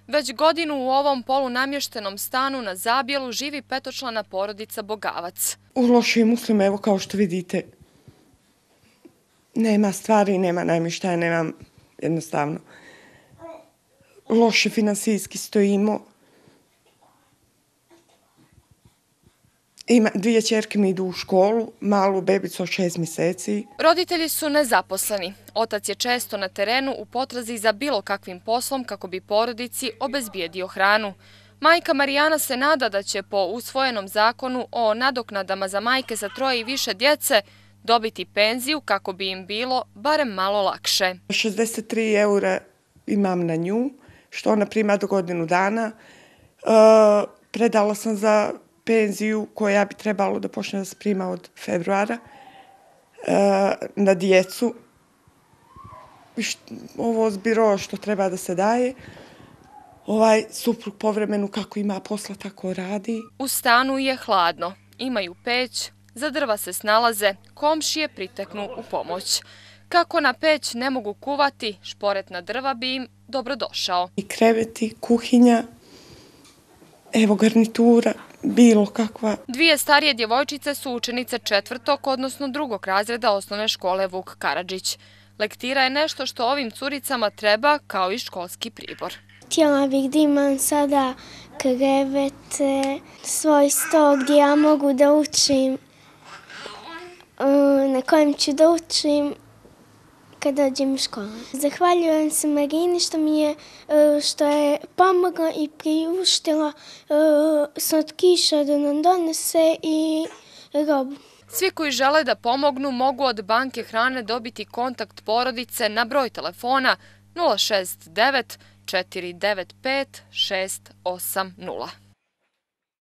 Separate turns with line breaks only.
Već godinu u ovom polunamještenom stanu na Zabjelu živi petočlana porodica Bogavac.
U lošim uslovima, evo kao što vidite, nema stvari, nema namještaja, nema jednostavno. Loše finansijski stojimo. Dvije ćerke mi idu u školu, malu bebicu od 6 mjeseci.
Roditelji su nezaposleni. Otac je često na terenu u potrazi za bilo kakvim poslom kako bi porodici obezbijedio hranu. Majka Marijana se nada da će po usvojenom zakonu o nadoknadama za majke sa 3 i više djece dobiti penziju kako bi im bilo barem malo lakše.
63 eura imam na nju, što ona prima do godinu dana. Predala sam za penziju koja bi trebalo da počne da se prima od februara na djecu. Ovo zbiro što treba da se daje. Ovaj suprug povremenu kako ima posla tako radi.
U stanu je hladno, imaju peć, za drva se snalaze, komšije priteknu u pomoć. Kako na peć ne mogu kuvati, šporet na drva bi im dobrodošao.
I kreveti, kuhinja, evo garnitura, bilo kakva.
Dvije starije djevojčice su učenice 4. odnosno 2. razreda osnovne škole Vuk Karadžić. Lektira je nešto što ovim curicama treba kao i školski pribor.
Htjela bih da imam sada krevete, svoj sto gdje ja mogu da učim, na kojem ću da učim kad dođem u školu. Zahvaljujem se Marini što je pomogla i priuštila slatkiša da nam donese i robu.
Svi koji žele da pomognu mogu od banke hrane dobiti kontakt porodice na broj telefona 069 495 680.